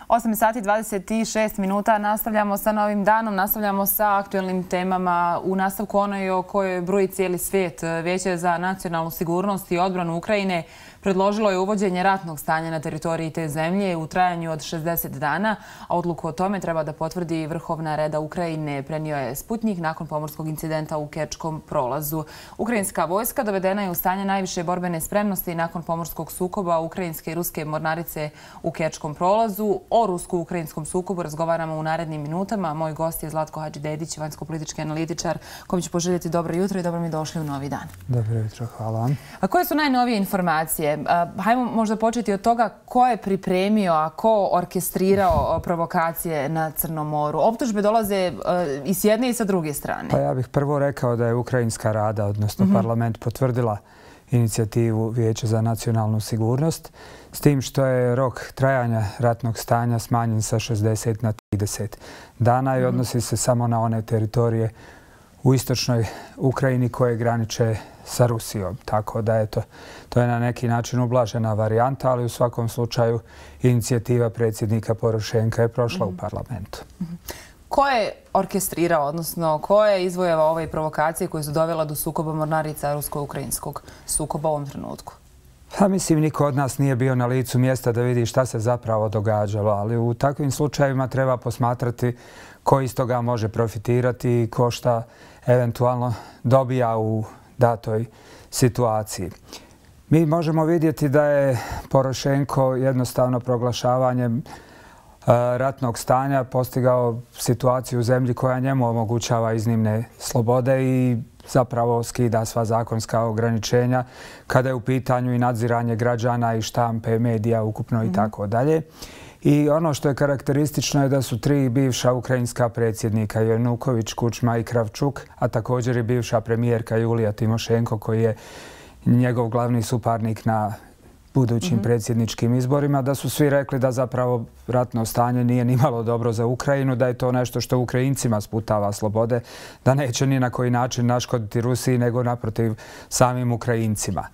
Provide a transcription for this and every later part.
8 sati 26 minuta. Nastavljamo sa novim danom, nastavljamo sa aktuelnim temama. U nastavku onoj o kojoj broji cijeli svijet. Vijeće za nacionalnu sigurnost i odbranu Ukrajine predložilo je uvođenje ratnog stanja na teritoriji te zemlje u trajanju od 60 dana, a odluku o tome treba da potvrdi Vrhovna reda Ukrajine, prenio je Sputnjik nakon pomorskog incidenta u Kerčkom prolazu. Ukrajinska vojska dovedena je u stanje najviše borbene spremnosti nakon pomorskog sukoba ukrajinske i ruske mornarice u Kerčkom prolazu. O rusko-ukrajinskom sukobu razgovaramo u narednim minutama. Moj gost je Zlatko Hadžidedić, vanjsko-politički analitičar, kojim ću poželjeti dobro jutro i dobro mi došli u novi dan. Dobro jutro, hvala vam. A koje su najnovije informacije? Hajmo možda početi od toga ko je pripremio, a ko orkestrirao provokacije na Crnom moru. Optužbe dolaze i s jedne i sa druge strane. Pa ja bih prvo rekao da je Ukrajinska rada, odnosno parlament, potvrdila inicijativu Vijeća za nacionalnu sigurnost, s tim što je rok trajanja ratnog stanja smanjen sa 60 na 30 dana i odnosi se samo na one teritorije u istočnoj Ukrajini koje graniče sa Rusijom. Tako da to je na neki način ublažena varijanta, ali u svakom slučaju inicijativa predsjednika Porošenka je prošla u parlamentu. Ko je orkestrirao, odnosno ko je izvojevao ove provokacije koje su dovela do sukoba mornarica rusko-ukrajinskog sukoba u ovom trenutku? Pa mislim, niko od nas nije bio na licu mjesta da vidi šta se zapravo događalo, ali u takvim slučajevima treba posmatrati ko iz toga može profitirati i ko šta eventualno dobija u datoj situaciji. Mi možemo vidjeti da je Porošenko jednostavno proglašavanjem ratnog stanja postigao situaciju u zemlji koja njemu omogućava iznimne slobode i zapravo skida sva zakonska ograničenja kada je u pitanju i nadziranje građana i štampe, medija ukupno i tako dalje. I ono što je karakteristično je da su tri bivša ukrajinska predsjednika, Januković, Kučma i Kravčuk, a također i bivša premijerka Julija Timošenko, koji je njegov glavni suparnik na budućim predsjedničkim izborima, da su svi rekli da zapravo ratno stanje nije nimalo dobro za Ukrajinu, da je to nešto što Ukrajincima sputava slobode, da neće ni na koji način naškoditi Rusiji, nego naprotiv samim Ukrajincima.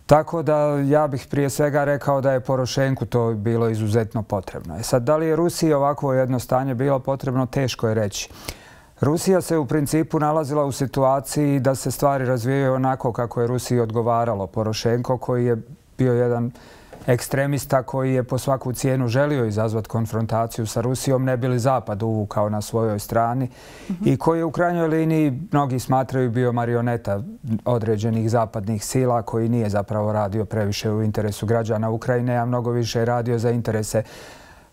Tako da ja bih prije svega rekao da je Porošenku to bilo izuzetno potrebno. Sad, da li je Rusiji ovakvo jedno stanje bilo potrebno, teško je reći. Rusija se u principu nalazila u situaciji da se stvari razvijaju onako kako je Rusiji odgovaralo. Porošenko, koji je bio jedan ekstremista koji je po svaku cijenu želio izazvati konfrontaciju sa Rusijom, ne bi li Zapad uvukao na svojoj strani i koji je u krajnjoj liniji, mnogi smatraju, bio marioneta određenih zapadnih sila, koji nije zapravo radio previše u interesu građana Ukrajine, a mnogo više radio za interese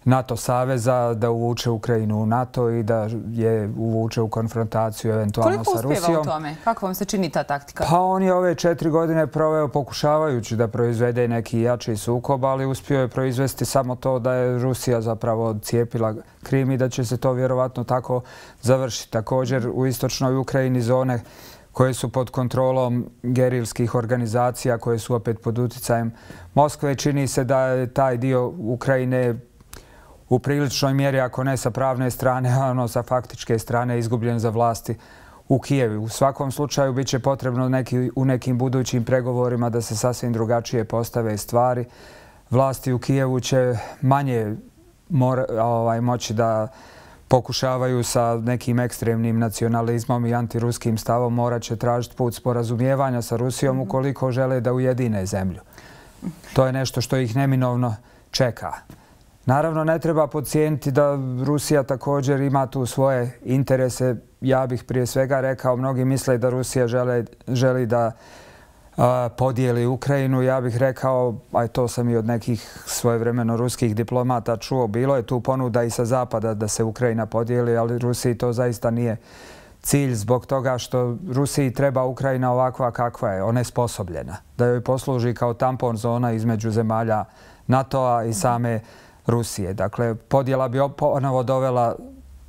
NATO saveza, da uvuče Ukrajinu u NATO i da je uvuče u konfrontaciju eventualno sa Rusijom. Koliko uspjeva u tome? Kako vam se čini ta taktika? Pa on je ove 4 godine proveo pokušavajući da proizvede neki jači sukob, ali uspio je proizvesti samo to da je Rusija zapravo odcijepila Krim i da će se to vjerovatno tako završiti. Također u istočnoj Ukrajini zone koje su pod kontrolom gerilskih organizacija, koje su opet pod uticajem Moskve, čini se da je taj dio Ukrajine u priličnoj mjeri, ako ne sa pravne strane, a ono sa faktičke strane, izgubljen za vlasti u Kijevu. U svakom slučaju bit će potrebno u nekim budućim pregovorima da se sasvim drugačije postave stvari. Vlasti u Kijevu će manje moći da pokušavaju sa nekim ekstremnim nacionalizmom i antiruskim stavom, morat će tražiti put sporazumijevanja sa Rusijom ukoliko žele da ujedine zemlju. To je nešto što ih neminovno čeka. Naravno, ne treba podcijeniti da Rusija također ima tu svoje interese. Ja bih prije svega rekao, mnogi misle da Rusija želi da podijeli Ukrajinu. Ja bih rekao, a to sam i od nekih svojevremeno ruskih diplomata čuo, bilo je tu ponuda i sa zapada da se Ukrajina podijeli, ali Rusiji to zaista nije cilj zbog toga što Rusiji treba Ukrajina ovakva kakva je, onesposobljena. Da joj posluži kao tampon zona između zemalja NATO-a i same Rusije. Dakle, podjela bi ponovo dovela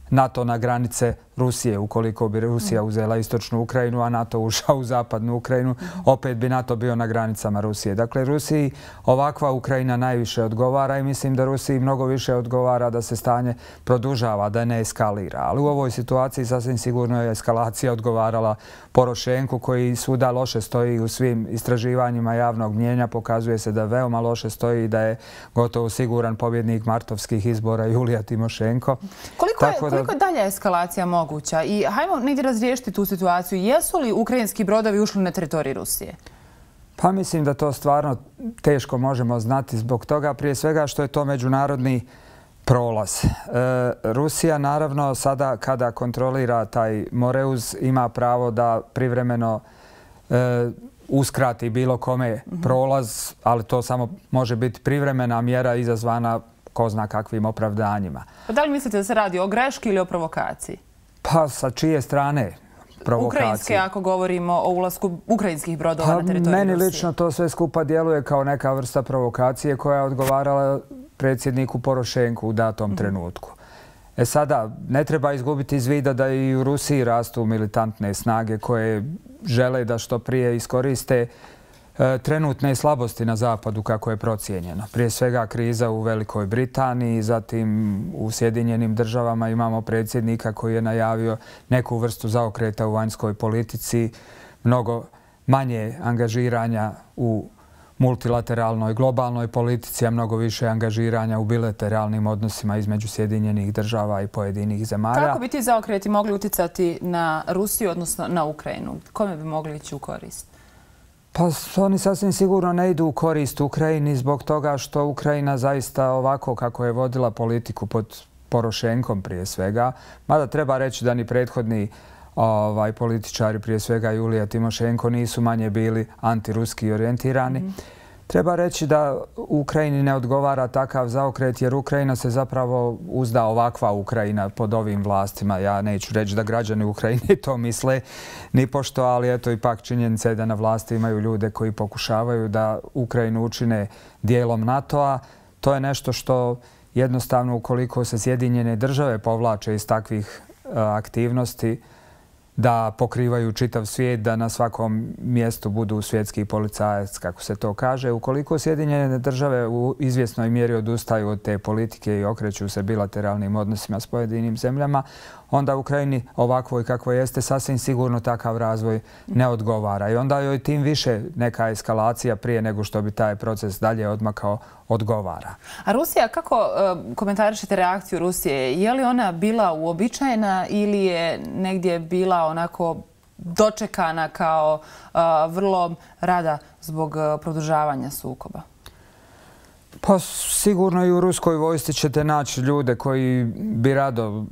NATO na granice Rusije. Ukoliko bi Rusija uzela istočnu Ukrajinu, a NATO ušao u zapadnu Ukrajinu, opet bi NATO bio na granicama Rusije. Dakle, Rusiji ovakva Ukrajina najviše odgovara i mislim da Rusiji mnogo više odgovara da se stanje produžava, da ne eskalira. Ali u ovoj situaciji sasvim sigurno je eskalacija odgovarala Porošenku, koji svuda loše stoji u svim istraživanjima javnog mnijenja. Pokazuje se da veoma loše stoji i da je gotovo siguran pobjednik martovskih izbora Julija Timošenko. Koliko je dalje eskalacija moguća? I hajmo negdje razriješiti tu situaciju. Jesu li ukrajinski brodovi ušli na teritoriju Rusije? Pa mislim da to stvarno teško možemo znati zbog toga. Prije svega što je to međunarodni prolaz. Rusija naravno sada kada kontrolira taj Moreuz ima pravo da privremeno uskrati bilo kome prolaz, ali to samo može biti privremena mjera izazvana ko zna kakvim opravdanjima. Da li mislite da se radi o greški ili o provokaciji? Pa sa čije strane provokacije? Ukrajinske, ako govorimo o ulasku ukrajinskih brodova na teritoriju Rusije. Meni lično to sve skupa djeluje kao neka vrsta provokacije koja je odgovarala predsjedniku Porošenku u datom trenutku. Sada, ne treba izgubiti iz vida da i u Rusiji rastu militantne snage koje žele da što prije iskoriste trenutne slabosti na zapadu kako je procijenjeno. Prije svega kriza u Velikoj Britaniji, zatim u Sjedinjenim državama imamo predsjednika koji je najavio neku vrstu zaokreta u vanjskoj politici, mnogo manje angažiranja u multilateralnoj globalnoj politici, a mnogo više angažiranja u bilateralnim odnosima između Sjedinjenih država i pojedinih zemalja. Kako bi ti zaokreti mogli uticati na Rusiju, odnosno na Ukrajinu? Kome bi mogli ići u korist? Pa oni sasvim sigurno ne idu u korist Ukrajini zbog toga što Ukrajina zaista ovako kako je vodila politiku pod Porošenkom prije svega, mada treba reći da ni prethodni političari, prije svega Julija Timošenko, nisu manje bili antiruski orijentirani. Treba reći da Ukrajini ne odgovara takav zaokret jer Ukrajina se zapravo uzda ovakva Ukrajina pod ovim vlastima. Ja neću reći da građani Ukrajine to misle nipošto, ali eto ipak činjenica je da na vlasti imaju ljude koji pokušavaju da Ukrajinu učine dijelom NATO-a. To je nešto što jednostavno ukoliko se Sjedinjene države povlače iz takvih aktivnosti, da pokrivaju čitav svijet, da na svakom mjestu budu svjetski policajac, kako se to kaže. Ukoliko Sjedinjene države u izvjesnoj mjeri odustaju od te politike i okreću se bilateralnim odnosima s pojedinim zemljama, onda Ukrajini ovakvoj kako jeste sasvim sigurno takav razvoj ne odgovara. I onda joj tim više neka eskalacija prije nego što bi taj proces dalje odmakao odgovara. A Rusija, kako komentarišete reakciju Rusije? Je li ona bila uobičajena ili je negdje bila onako dočekana kao vrlo rada zbog produžavanja sukoba? Pa sigurno i u ruskoj vojsci ćete naći ljude koji bi rado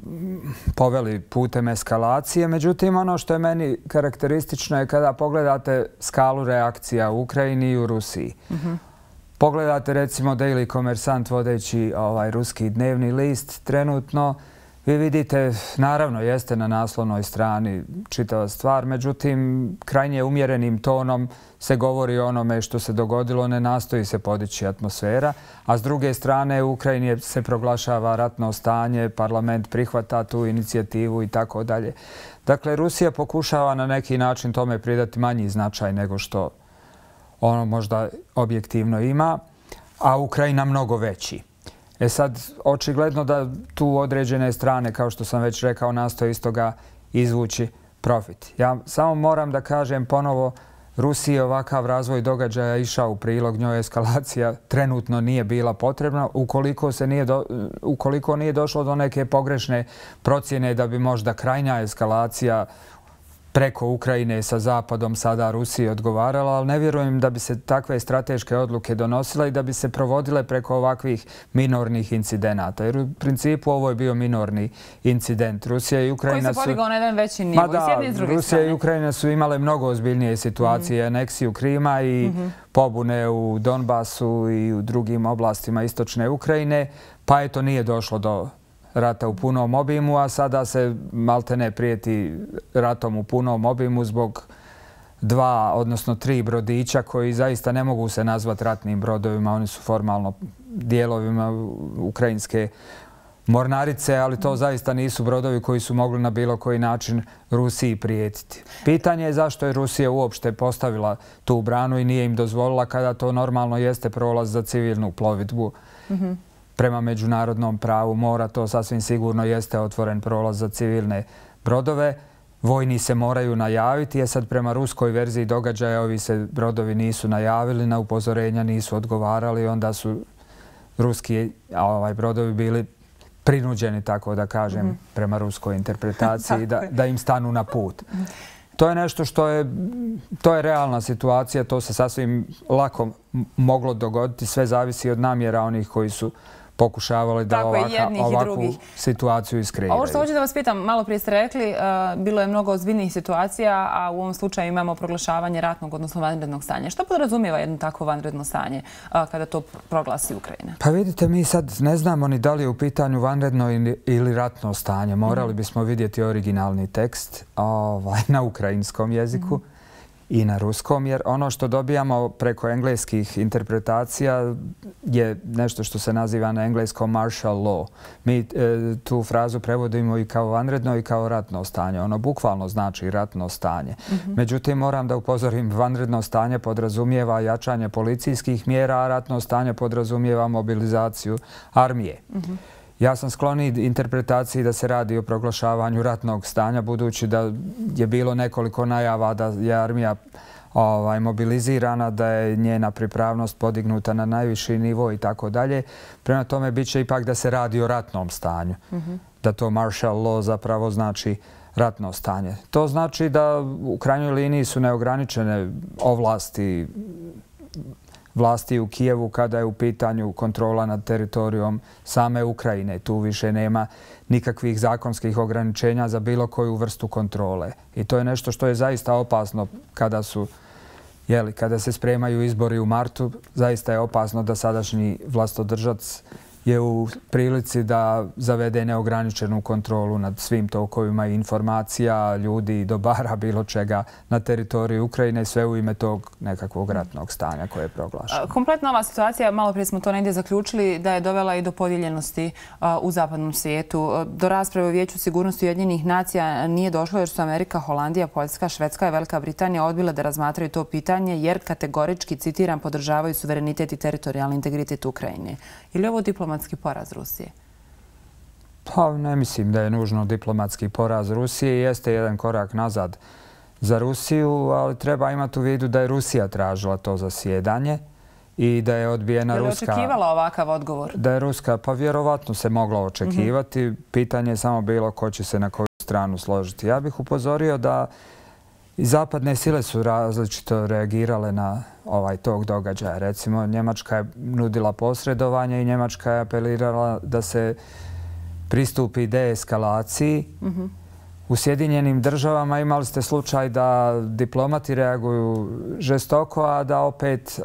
poveli putem eskalacije. Međutim, ono što je meni karakteristično je kada pogledate skalu reakcija u Ukrajini i u Rusiji. Pogledate recimo Daily Kommersant, vodeći ruski dnevni list trenutno, vi vidite, naravno jeste na naslovnoj strani čitava stvar, međutim krajnje umjerenim tonom se govori o onome što se dogodilo, ne nastoji se podići atmosfera, a s druge strane u Ukrajini se proglašava ratno stanje, parlament prihvata tu inicijativu i tako dalje. Dakle, Rusija pokušava na neki način tome pridati manji značaj nego što ono možda objektivno ima, a Ukrajina mnogo veći. Sad, očigledno da tu određene strane, kao što sam već rekao, nastoje iz toga izvući profit. Ja samo moram da kažem ponovo, Rusiji ovakav razvoj događaja išao u prilog, njoj eskalacija trenutno nije bila potrebna. Ukoliko nije došlo do neke pogrešne procjene da bi možda krajnja eskalacija preko Ukrajine sa Zapadom sada Rusiji odgovarala, ali ne vjerujem da bi se takve strateške odluke donosile i da bi se provodile preko ovakvih minornih incidenata. Jer u principu ovo je bio minorni incident. Rusija i Ukrajina koji se podigao na jedan veći nivo. Rusija i Ukrajina su imale mnogo ozbiljnije situacije, aneksiju Krima i pobune u Donbasu i u drugim oblastima istočne Ukrajine, pa eto nije došlo do rata u punom obimu, a sada se maltene prijeti ratom u punom obimu zbog 2, odnosno 3 brodića koji zaista ne mogu se nazvati ratnim brodovima. Oni su formalno dijelovima ukrajinske mornarice, ali to zaista nisu brodovi koji su mogli na bilo koji način Rusiji prijetiti. Pitanje je zašto je Rusija uopšte postavila tu branu i nije im dozvolila kada to normalno jeste prolaz za civilnu plovidbu. Prema međunarodnom pravu mora to sasvim sigurno jeste otvoren prolaz za civilne brodove. Vojni se moraju najaviti, jer sad prema ruskoj verziji događaja ovi se brodovi nisu najavili, na upozorenja nisu odgovarali, onda su ruski brodovi bili prinuđeni, tako da kažem, prema ruskoj interpretaciji, da im stanu na put. To je nešto to je realna situacija, to se sasvim lako moglo dogoditi, sve zavisi od namjera onih koji su pokušavali da ovakvu situaciju iskreiraju. Ovo što hoću da vas pitam, malo prije ste rekli, bilo je mnogo ozbiljnijih situacija, a u ovom slučaju imamo proglašavanje ratnog, odnosno vanrednog stanja. Što podrazumijeva jedno takvo vanredno stanje kada to proglasi Ukrajina? Pa vidite, mi sad ne znamo ni da li je u pitanju vanredno ili ratno stanje. Morali bismo vidjeti originalni tekst na ukrajinskom jeziku i na ruskom, jer ono što dobijamo preko engleskih interpretacija je nešto što se naziva na engleskom martial law. Mi tu frazu prevodimo i kao vanredno i kao ratno stanje. Ono bukvalno znači ratno stanje. Međutim, moram da upozorim, vanredno stanje podrazumijeva jačanje policijskih mjera, a ratno stanje podrazumijeva mobilizaciju armije. Ja sam skloniji interpretaciji da se radi o proglašavanju ratnog stanja, budući da je bilo nekoliko najava da je armija mobilizirana, da je njena pripravnost podignuta na najviši nivo i tako dalje. Prema tome, bit će ipak da se radi o ratnom stanju. Da to martial law zapravo znači ratno stanje. To znači da u krajnjoj liniji su neograničene vlasti u Kijevu kada je u pitanju kontrola nad teritorijom same Ukrajine. Tu više nema nikakvih zakonskih ograničenja za bilo koju vrstu kontrole. I to je nešto što je zaista opasno kada se spremaju izbori u martu. Zaista je opasno da sadašnji vlastodržac je u prilici da zavede neograničenu kontrolu nad svim tokovima informacija, ljudi, dobara, bilo čega na teritoriju Ukrajine, sve u ime tog nekakvog ratnog stanja koje je proglašeno. Kompletna ova situacija, malo prije smo to negdje zaključili, da je dovela i do podijeljenosti u zapadnom svijetu. Do rasprave u Vijeću sigurnosti Ujedinjenih nacija nije došlo jer su Amerika, Holandija, Poljska, Švedska i Velika Britanija odbile da razmatraju to pitanje jer kategorički, citiram, podržavaju suverenitet i teritorijalni integritet Ukrajine. Ili je ovo diplomatski poraz Rusije? Pa ne mislim da je nužno diplomatski poraz Rusije. Jeste jedan korak nazad za Rusiju, ali treba imati u vidu da je Rusija tražila to zasjedanje i da je odbijena ruska... Je li očekivala ovakav odgovor? Da je ruska, pa vjerovatno se mogla očekivati. Pitanje je samo bilo ko će se na koju stranu složiti. Ja bih upozorio da i zapadne sile su različito reagirale na tog događaja. Recimo, Njemačka je nudila posredovanje i Njemačka je apelirala da se pristupi deeskalaciji. U Sjedinjenim državama imali ste slučaj da diplomati reaguju žestoko, a da opet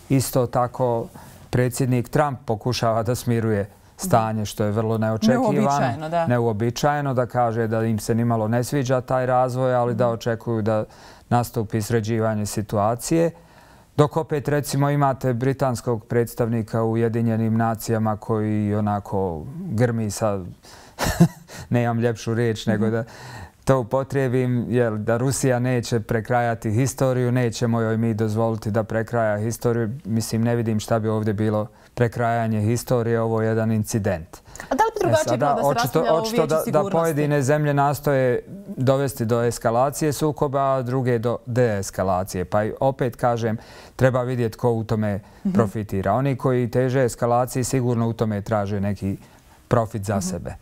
isto tako predsjednik Trump pokušava da smiruje stanje, što je vrlo neočekivano, neuobičajeno, da kaže da im se nimalo ne sviđa taj razvoj, ali da očekuju da nastupi sređivanje situacije. Dok opet, recimo, imate britanskog predstavnika u Ujedinjenim nacijama koji onako grmi sa, nemam ljepšu riječ, nego da to upotrijebim, jer da Rusija neće prekrajati historiju, nećemo joj mi dozvoliti da prekraja historiju. Mislim, ne vidim šta bi ovdje bilo prekrajanje historije, ovo je jedan incident. A da li bi drugačije bilo da se raspravljalo u Vijeću sigurnosti? Da pojedine zemlje nastoje dovesti do eskalacije sukoba, a druge do deeskalacije. Pa opet kažem, treba vidjeti ko u tome profitira. Oni koji teže eskalaciji sigurno u tome traže neki profit za sebe.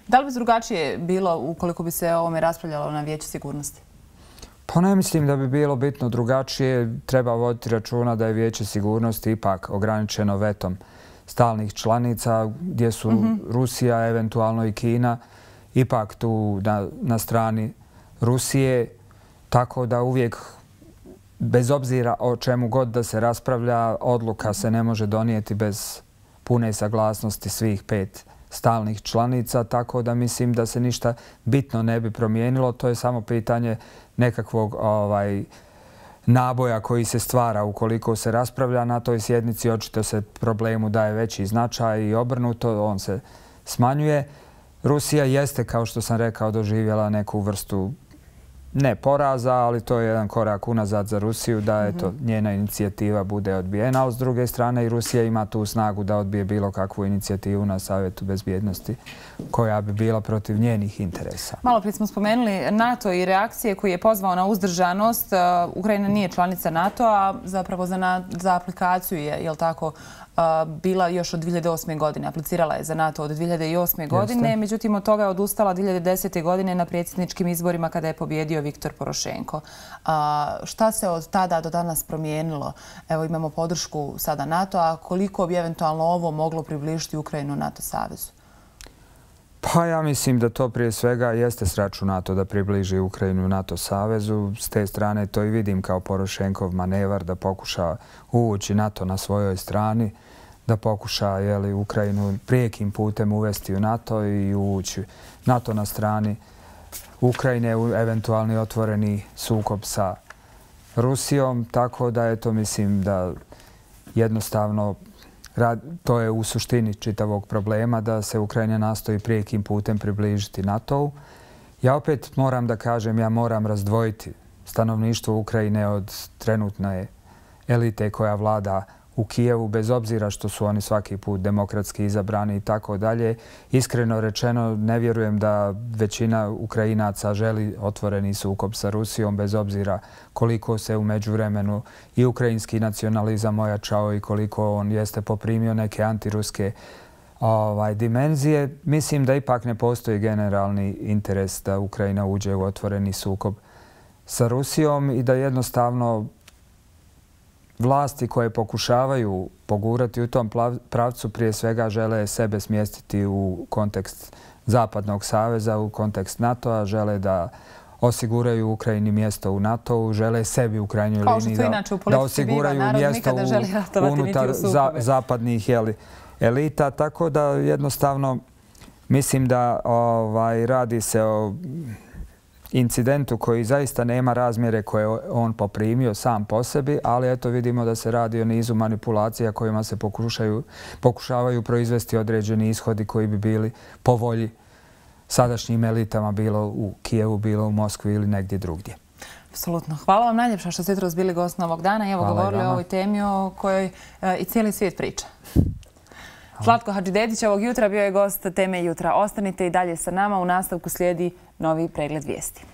Da li bi drugačije bilo ukoliko bi se o ovome raspravljalo na Vijeću sigurnosti? Pa ne mislim da bi bilo bitno drugačije. Treba voditi računa da je Vijeće sigurnosti ipak ograničeno vetom stalnih članica, gdje su Rusija, eventualno i Kina, ipak tu na strani Rusije. Tako da uvijek, bez obzira o čemu god da se raspravlja, odluka se ne može donijeti bez pune saglasnosti svih 5 stalnih članica, tako da mislim da se ništa bitno ne bi promijenilo. To je samo pitanje nekakvog naboja koji se stvara ukoliko se raspravlja na toj sjednici. Očito se problemu daje veći značaj i obrnuto. On se smanjuje. Rusija jeste, kao što sam rekao, doživjela neku vrstu ne poraza, ali to je jedan korak unazad za Rusiju da njena inicijativa bude odbijena, ali s druge strane i Rusija ima tu snagu da odbije bilo kakvu inicijativu na Savjetu bezbjednosti koja bi bila protiv njenih interesa. Malo prije smo spomenuli NATO i reakcije koji je pozvao na uzdržanost. Ukrajina nije članica NATO-a, zapravo za aplikaciju je, jel tako, bila još od 2008. godine. Aplicirala je za NATO od 2008. godine, međutim od toga je odustala 2010. godine na predsjedničkim izborima kada je pobjedio Viktor Porošenko. Šta se od tada do danas promijenilo? Evo, imamo podršku sada NATO-a. Koliko bi eventualno ovo moglo približiti Ukrajinu NATO savezu? Pa ja mislim da to prije svega jeste sraču NATO da približi Ukrajinu NATO savezu. S te strane to i vidim kao Porošenkov manevar da pokuša uvući NATO na svojoj strani, da pokuša Ukrajinu prijekim putem uvesti u NATO i uvući NATO na strani Ukrajine u eventualni otvoreni sukob sa Rusijom. Tako da mislim da jednostavno to je u suštini čitavog problema da se Ukrajina nastoji prijekim putem približiti NATO-u. Ja opet moram da kažem, ja moram razdvojiti stanovništvo Ukrajine od trenutne elite koja vlada u Kijevu, bez obzira što su oni svaki put demokratski izabrani i tako dalje. Iskreno rečeno, ne vjerujem da većina Ukrajinaca želi otvoreni sukob sa Rusijom, bez obzira koliko se u međuvremenu i ukrajinski nacionalizam ojačao i koliko on jeste poprimio neke antiruske dimenzije. Mislim da ipak ne postoji generalni interes da Ukrajina uđe u otvoreni sukob sa Rusijom i da jednostavno vlasti koje pokušavaju pogurati u tom pravcu prije svega žele sebe smjestiti u kontekst Zapadnog saveza, u kontekst NATO-a, žele da osiguraju Ukrajini mjesto u NATO-u, žele sebi u krajnjoj liniji da osiguraju mjesto unutar zapadnih elita. Tako da jednostavno mislim da radi se o incidentu koji zaista nema razmjere koje on poprimio sam po sebi, ali eto vidimo da se radi o nizu manipulacija kojima se pokušavaju proizvesti određeni ishodi koji bi bili po volji sadašnjim elitama, bilo u Kijevu, bilo u Moskvi ili negdje drugdje. Apsolutno. Hvala vam najljepša što ste jutros bili gost novog dana i evo govorili o ovoj temi o kojoj i cijeli svijet priča. Zlatko Hadžidetić ovog jutra bio je gost Teme jutra. Ostanite i dalje sa nama. U nastavku slijedi novi pregled vijesti.